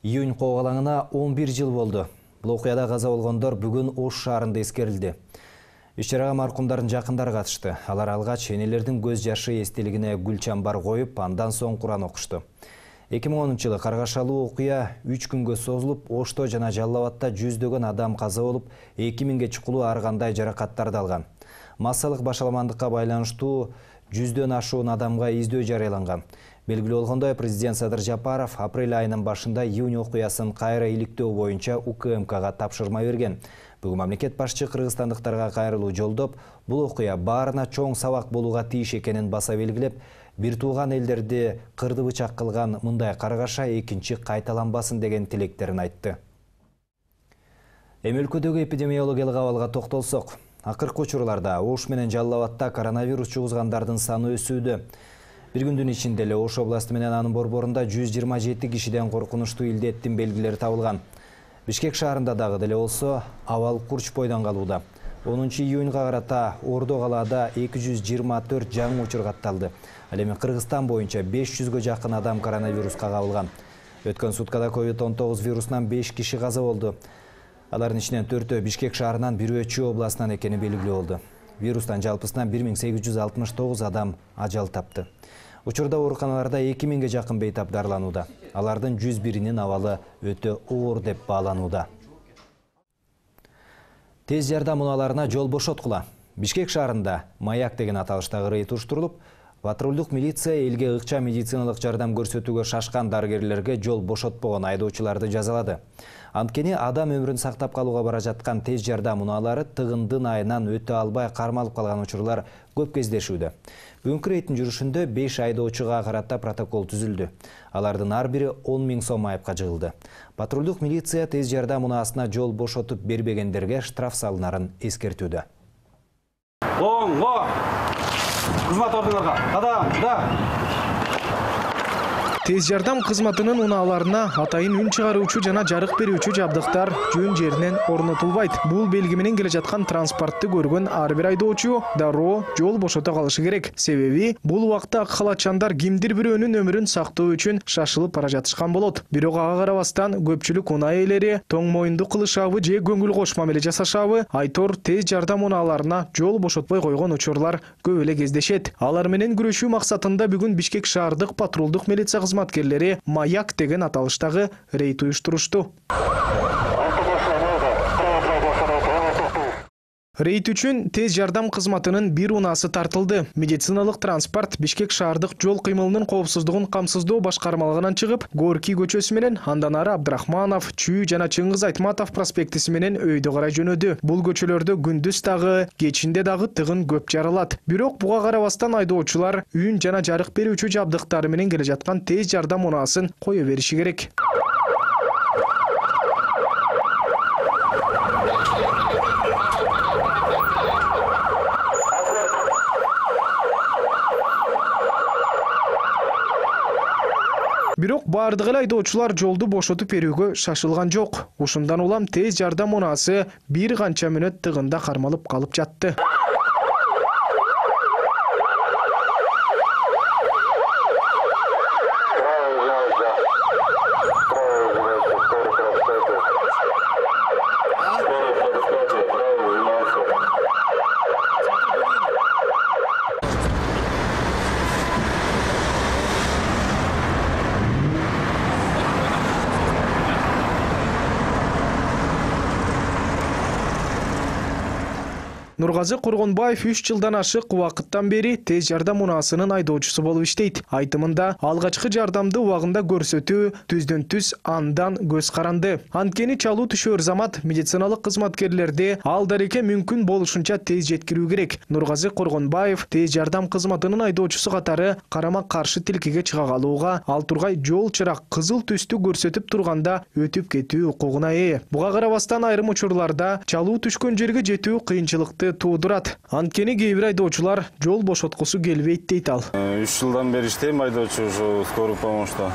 Июнь коогалаңына он бир жыл болду. Бул окуяда каза болгондор бүгүн Ош шаарында эскерилди. Иш-чарага маркумдардын жакындары катышты. Алар алгач энелердин көз жашы эстелигине гүл чамбар коюп, андан соң Куран окушту. эки миң онунчу жылы каргашалуу окуя үч күнгө созулуп, Ошто жана Жалал Абадта жүздөгөн адам каза болуп, эки миңге чукулуу ар кандай жаракаттарды алган. Массалык башаламандыкка байланыштуу жүздөн ашуун адамга издөө жарыяланган. Белгилүү болгондой, президент Садыр Жапаров апрель айынын башында июнь окуясын кайра иликтөө боюнча У К М Кга тапшырма берген. Бүгүн мамлекет башчы кыргызстандыктарга кайрылуу жолдоп, бул окуя баарына чоң сабак болууга тийиш экенин баса белгилеп, бир тууган элдерди кырды бычак кылган мындай каргаша экинчи кайталанбасын деген тилектерин айтты. Эми өлкөдөгү эпидемиологиялык абалга токтолсок, акыркы учурларда Ош менен Жалал Абадта коронавирус жугузгандардын саны өсүүдө. Бир күндүн ичинде эле Ош областы менен анын борборунда жүз жыйырма жети кишиден коркунучтуу илдеттин белгилери табылган. Бишкек шаарында дагы деле болсо абал курч бойдон калууда. онунчу июньга карата Ордо калаада эки жүз жыйырма төрт жаңы учур катталды. Ал эми Кыргызстан боюнча беш жүзгө жакын адам коронавируска кабылган. Өткөн суткада ковид он тогуз вирусунан беш киши каза болду. Алардын ичинен төртөө Бишкек шаарынан, бирөө Чүй областынан экени белгилүү болду. Вирустан жалпысынан бир миң сегиз жүз алтымыш тогуз адам ажал тапты. Учурда ооруканаларда эки миңге жакын бейтап дарыланууда. Алардын жүз биринин абалы өтө оор деп бааланууда. Тез жардам унааларына жол бошоткула. Бишкек шаарында Маяк деген аталыштагы рейд уруштурулуп, патрулдук милиция элге ыкча медициналык жардам көрсөтүүгө шашкан дарыгерлерге жол бошотпогон айдоочуларды жазалады. Анткени адам өмүрүн сактап калууга бара жаткан тез жардам унаалары тыгындын айынан өтө албай кармалып калган учурлар көп кездешүүдө. Бүгүнкү рейдтин жүрүшүндө беш айдоочуга карата протокол түзүлдү. Алардын ар бири он миң сом айыпка жыгылды. Патрулдук милиция тез жардам унаасына жол бошотуп бербегендерге штраф салынарын эскертүүдө. Оңго! Кызмат ордуңарга, кадам, да! Тез жардам кызматынын унааларына атайын үн чыгаруучу жана жарык берүүчү жабдыктар жөн жеринен орнотулбайт. Бул белги менен келе жаткан транспортты көргөн ар бир айдоочу дароо жол бошото калышы керек. Себеби бул убакта ак халатчандар кимдир бирөөнүн өмүрүн сактоо үчүн шашылып бара жатышкан болот. Бирок ага карабастан көпчүлүк унаа ээлери тоң моюнду кылышабы же көңүл кош мамиле жасашабы айтор тез жардам унааларына жол бошотпой койгон учурлар көп эле кездешет. Алар менен күрөшүү максатында бүгүн Бишкек шаардык патрулдук милиция кызматкерлери Маяк деген аталыштагы рейд уюштурушту. Рейд үчүн тез жардам кызматынын бир унаасы тартылды. Медициналык транспорт Бишкек шаардык жол кыймылынын коопсуздугун камсыздоо башкармалыгынан чыгып, Горки көчөсү менен андан ары Абдрахманов, Чүй жана Чыңгыз Айтматов проспектиси менен өйдө карай жөнөдү. Бул көчөлөрдө күндүз дагы, кечинде дагы тыгын көп жаралат. Бирок буга карабастан айдоочулар үн жана жарык берүүчү жабдыктары менен келе жаткан тез жардам унаасын кое бериши керек. Бирок Бирок бардык эле айдоочулар жолду бошотуп берүүгө шашылган жок. Ушундан улам тез жардам унаасы бир канча мүнөт тыгында кармалып калып жатты. Нургазы Коргонбаев үч жылдан ашык убакыттан бери тез жардам унаасынын айдоочусу болуп иштейт. Айтымында алгачкы жардамды убагында көрсөтүү түздөн түз андан көз каранды. Анткени чалуу түшөр замат медициналык кызматкерлерди ал дареке мүмкүн болушунча тез жеткирүү керек. Нургазы Коргонбаев тез жардам кызматынын айдоочусу катары карама каршы тилкеге чыга калууга, ал тургай жол чырак кызыл түстү көрсөтүп турганда өтүп кетүү укугуна ээ. Буга карабастан айрым учурларда чалуу түшкөн жерге жетүү кыйынчылыкты туудурат. Анткени кээ бир айдоочулар жол бошоткусу келбейт дейт ал. үч жылдан бери иштейм айдоочу ушу скорый помощьта.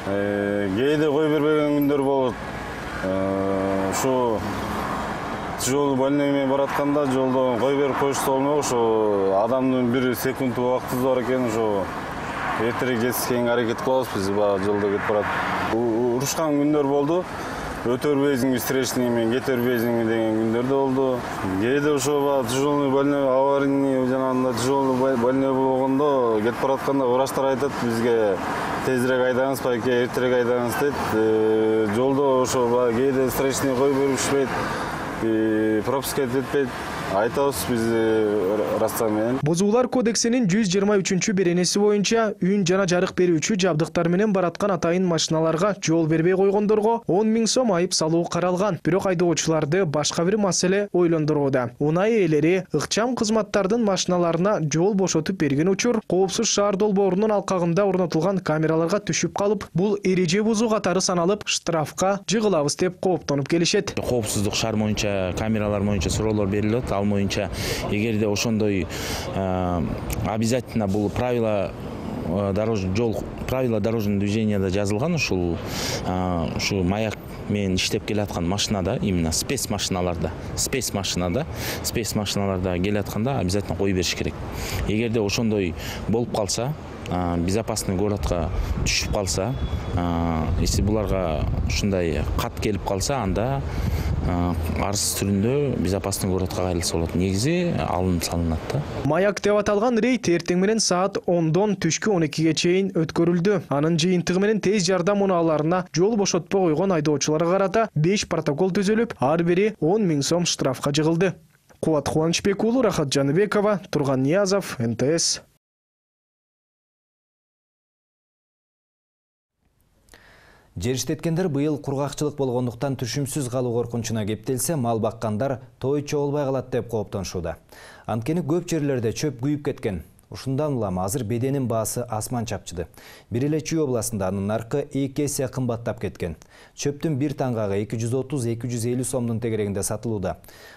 Кээде кой бербеген күндөр болот. Ушу жол больной менен баратканда жолдон кой берип коюшса болмок, ушу адамдын бир секунд убактысы бар экен, ушу эртерээк жетишкенге аракет кылабыз биз. Баягы жолдо кетип барат. Урушкан күндөр болду. Өтө бербейсиңби встречный менен, кете бербейсиңби деген күндөр да болду. Кээде ошо тяжелый больной, аварийный жанагында тяжелый больной болгондо кетип баратканда врачтар айтат бизге тезирээк айдаңыз, байке эртерээк айдаңыз дейт. Жолдо ошо кээде встречный кой беришпейт, пропуска этпейт. Айтабыз биз растан менен. Бузуулар кодексинин жүз жыйырма үчүнчү беренеси боюнча үн жана жарык берүүчү жабдыктар менен бараткан атайын машиналарга жол бербей койгондорго он миң сом айып салуу каралган. Бирок айдоочуларды башка бир маселе ойлондурууда. Унай ээлери ыкчам кызматтардын машиналарына жол бошотуп берген учур коопсуз шаар долбоорунун алкагында орнотулган камераларга түшүп калып, бул эреже бузуу катары саналып, штрафка жыгылабыз деп кооптонуп келишет. Коопсуздук шаар боюнча камералар боюнча суроолор берилет. Ал боюнча эгерде ошондой обязательно бул правила дорожный жол правила дорожного движения да жазылган, ушул ушу маяк менен иштеп келаткан машинада, именно спец машиналарда, спец машинада, спец машиналарда келатканда обязательно кой бериш керек. Эгерде ошондой болуп калса, безопасный городка түшүп калса, если буларга ушундай кат келип калса, анда арыз түрүндө безопасный городка кайрылса болот. Негизи алынып салынат да. Маяк деп аталган рейд эртең менен саат ондон түшкү он экиге чейин өткөрүлдү. Анын жыйынтыгы менен тез жардам унааларына жол бошотпой койгон айдоочуларга карата беш протокол түзүлүп, ар бири он миң сом штрафка жыгылды. Кубат Кубанычбек уулу, Рахат Жаныбекова, Турган Ниязов, эн тэ эс. Жериштеткендер быйыл кургакчылык болгондуктан түшүмсүз калуу коркунучуна кептелсе, мал баккандар той чогулбай калат деп кооптонушууда. Анткени көп жерлерде чөп күйүп кеткен. Ушундан улам азыр беденин баасы асман чапчыды. Бир эле Чүй областында анын наркы эки эсе кымбаттап кеткен. Чөптүн бир таңгагы эки жүз отуз — эки жүз элүү сомдун тегерегинде сатылууда.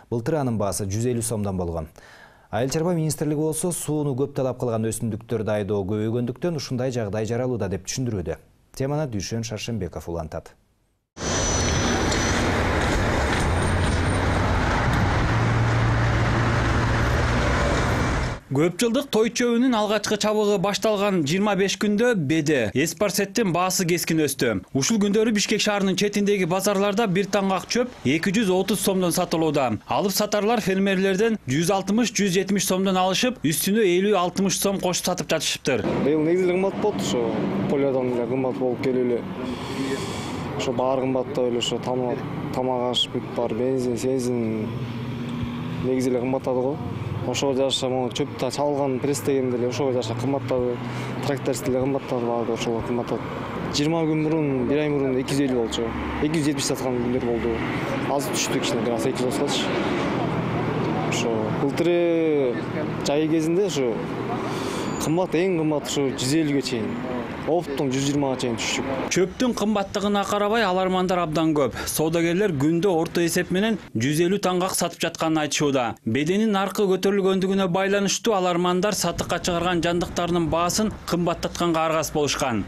Былтыр анын баасы жүз элүү сомдон болгон. Айыл чарба министрлиги болсо сууну көп талап кылган өсүмдүктөрдү айдоо көбөйгөндүктөн ушундай жагдай жаралууда деп түшүндүрүүдө. Теманы Дүйшөн Шаршенбеков улантат. Көп жылдык той чөбүнүн алгачкы чабыгы башталган жыйырма беш күндө беде эспарсеттин баасы кескин өстү. Ушул күндөрү Бишкек шаарынын четиндеги базарларда бир таңгак чөп эки жүз отуз сомдон сатылууда. Алып сатарлар фермерлерден жүз алтымыш — жүз жетимиш сомдон алышып, үстүнө элүү — алтымыш сом кошуп сатып жатышыптыр. Быйыл негизи кымбат болду, ошо полядан эле кымбат болуп келип эле. Ошо баары кымбаттап эле, ошо тамак аш, бүт бар, бензин, сензин негизи эле кымбаттады го. Ошого жараша могу чөптө чалган пресс дегенде эле ошого жараша кымбаттады. Тракторист деле кымбаттады, баары ошого кымбаттады. жыйырма күн мурун, бир ай мурун эки жүз элүү болчу. эки жүз жетимиш саткан күндөр болду. Азыр түштү кичине, газ эки жүз отузгачы. Ошо былтыры жай кезинде ошо кымбат, эң кымбат ошо жүз элүүгө чейин. оффтун жүз жыйырмага чейин түшчүк. Чөптүн кымбаттыгына карабай алармандар абдан көп. Соодагерлер күндө орто эсеп менен жүз элүү таңгак сатып жатканын айтышууда. Беденин наркы көтөрүлгөндүгүнө байланыштуу алармандар сатыкка чыгарган жандыктардын баасын кымбаттатканга аргас болушкан.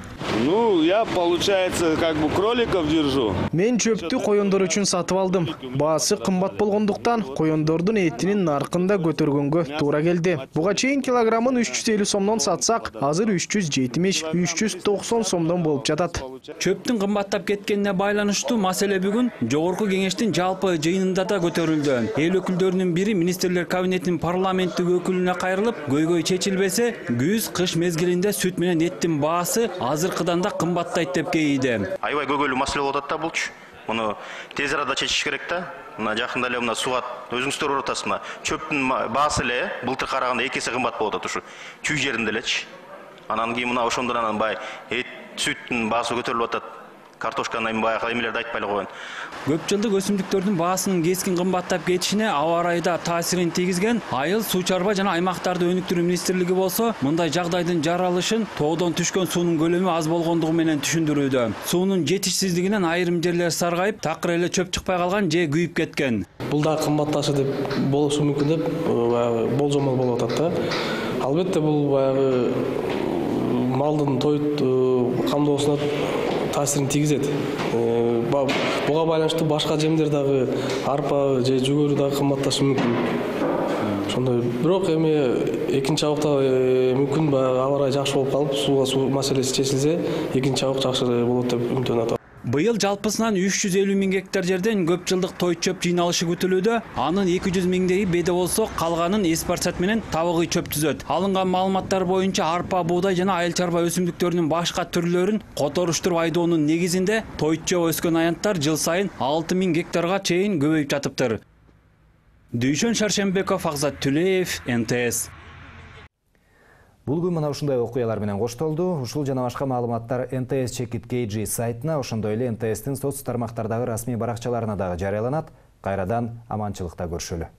Ну, я, получается, как бы кроликов держу. Мен чөптү коёндор үчүн сатып алдым. Баасы кымбат болгондуктан коёндордун этинин наркын да көтөргөнгө туура келди. Буга чейин килограммын үч жүз элүү сомдон сатсак, азыр үч жүз жетимиш — үч жүз токсон сомдон болуп жатат. Чөптүн кымбаттап кеткенине байланыштуу маселе бүгүн Жогорку кеңештин жалпы жыйынында да көтөрүлдү. Эл өкүлдөрүнүн бири министрлер кабинетинин парламенттик өкүлүнө кайрылып, көйгөй чечилбесе, күз-кыш мезгилинде сүт менен эттин баасы азыркыдан да кымбаттайт деп кейиди. Аябай көйгөйлүү маселе болуп атат да булчу. Муну тез арада чечиш керек да. Мына жакында эле мына сугат өзүңүздөр көрүп атасыз, мына чөптүн баасы эле былтыр караганда эки эсе кымбат болуп атат ушу чүй жеринде элечи. Анан кийин мына ошондон анан бай эт, сүттүн баасы көтөрүлүп атат. Картошканы баягы эмелерди айтпай эле коеюн. Көп жылдык өсүмдүктөрдүн баасынын кескин кымбаттап кетишине аба ырайда таасирин тийгизген Айыл суу чарба жана аймактарды өнүктүрүү министрлиги болсо, мындай жагдайдын жаралышын тоодон түшкөн суунун көлөмү аз болгондугу менен түшүндүрүүдө. Суунун жетишсиздигинен айрым жерлер саргайып, такыр эле чөп чыкпай калган же күйүп кеткен. Бул да кымбатташы деп болушу мүмкүн деп баягы болжомол болуп атат да. Албетте бул баягы малдын тоют камдоосуна таасирин тийгизет. Буга байланыштуу башка жемдер дагы, арпа же жүгөрү дагы кымбатташы мүмкүн. Ошондой бирок эми экинчи абыкта мүмкүн баягы аба ырайы жакшы болуп калып, сууга суу маселеси чечилсе, экинчи абык жакшы болот деп үмүттөнүп атам. Быйыл жалпысынан үч жүз элүү миң гектар жерден көп жылдык той чөп жыйналышы күтүлүүдө. Анын эки жүз миңдеги беде болсо, калганын эспарсат менен табыгый чөп түзөт. Алынган маалыматтар боюнча арпа, буудай жана айыл чарба өсүмдүктөрүнүн башка түрлөрүн которуштуруп айдоонун негизинде той чөп өскөн аянттар жыл сайын алты миң гектарга чейин көбөйүп жатыптыр. Дүйшөн Шаршембеков, Акзат Түлеев, эн тэ эс. Бул күн мына ушундай окуялар менен коштолду. Ушул жана башка маалыматтар эн тэ эс чекит кей джи сайтына, ошондой эле эн тэ эстин соц тармактардагы расмий баракчаларына дагы жарыяланат. Кайрадан аманчылыкта көрүшөлү.